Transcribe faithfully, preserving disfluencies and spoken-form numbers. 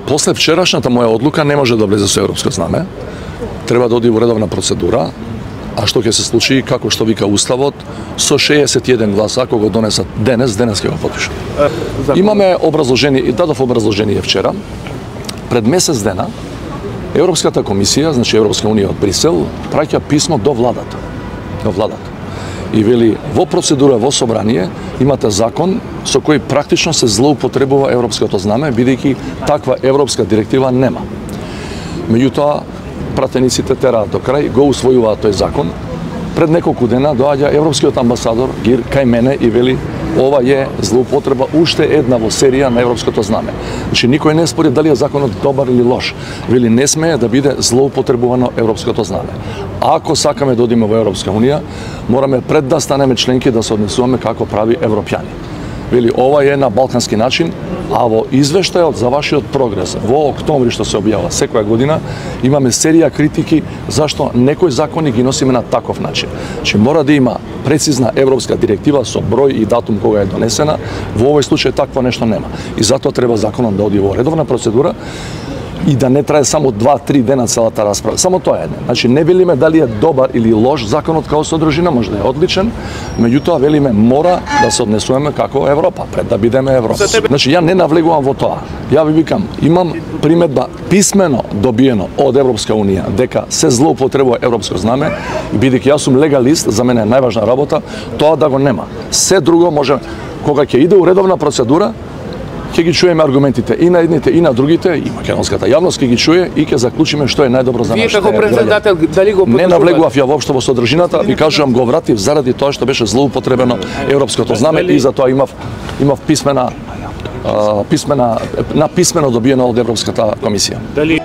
после вчерашната моја одлука не може да влезе со европско знаме. Треба да оди во редовна процедура. А што ќе се случи, како што вика Уставот, со шеесет и еден глас, ако го донесат денес, денес ќе го потпишат. Имаме образложение, дадов образложение вчера. Пред месец дена, Европската комисија, значи Европска унија од Брисел, праќа писмо до владата. До владата. И вели, во процедура, во собрание, имате закон со кој практично се злоупотребува европското знаме, бидејќи таква европска директива нема. Меѓутоа, пратениците тераат до крај, го усвојуваат тој закон. Пред неколку дена доаѓа европскиот амбасадор Гир кај мене и вели ова е злоупотреба уште една во серија на европското знаме. Значи никој не спори дали е законот добар или лош. Вели не смее да биде злоупотребувано европското знаме. Ако сакаме да одиме во Европска унија, мораме пред да станеме членки да се однесуваме како прави европјани. Вели ова е на балкански начин, а во извештајот за вашиот прогрес во октомври што се објавува секоја година имаме серија критики зашто некои закони ги носиме на таков начин. Че мора да има прецизна европска директива со број и датум кога е донесена, во овој случај такво нешто нема. И затоа треба законот да оди во редовна процедура и да не трае само два-три дена целата расправа. Само тоа е. Значи не велиме дали е добар или лош законот како содржина, може да е одличен, меѓутоа велиме мора да се однесуваме како Европа, пред да бидеме Европа. Значи ја не навлегувам во тоа. Ја ви викам, имам примедба писмено добиено од Европска унија дека се злоупотребува европско знаме, бидејќи јас сум легалист, за мене е најважна работа, тоа да го нема. Се друго може кога ќе иде у редовна процедура, ќе ги чуеме аргументите и на едните и на другите, и македонската јавност ќе ги чуе и ќе заклучиме што е најдобро за нашите граѓани. Вие како председател дали го не навлегував ја воопшто во содржината, ви кажувам го вратив заради тоа што беше злоупотребено европското знаме и затоа имав имав писмена писмена на писмено добиено од Европската комисија. Дали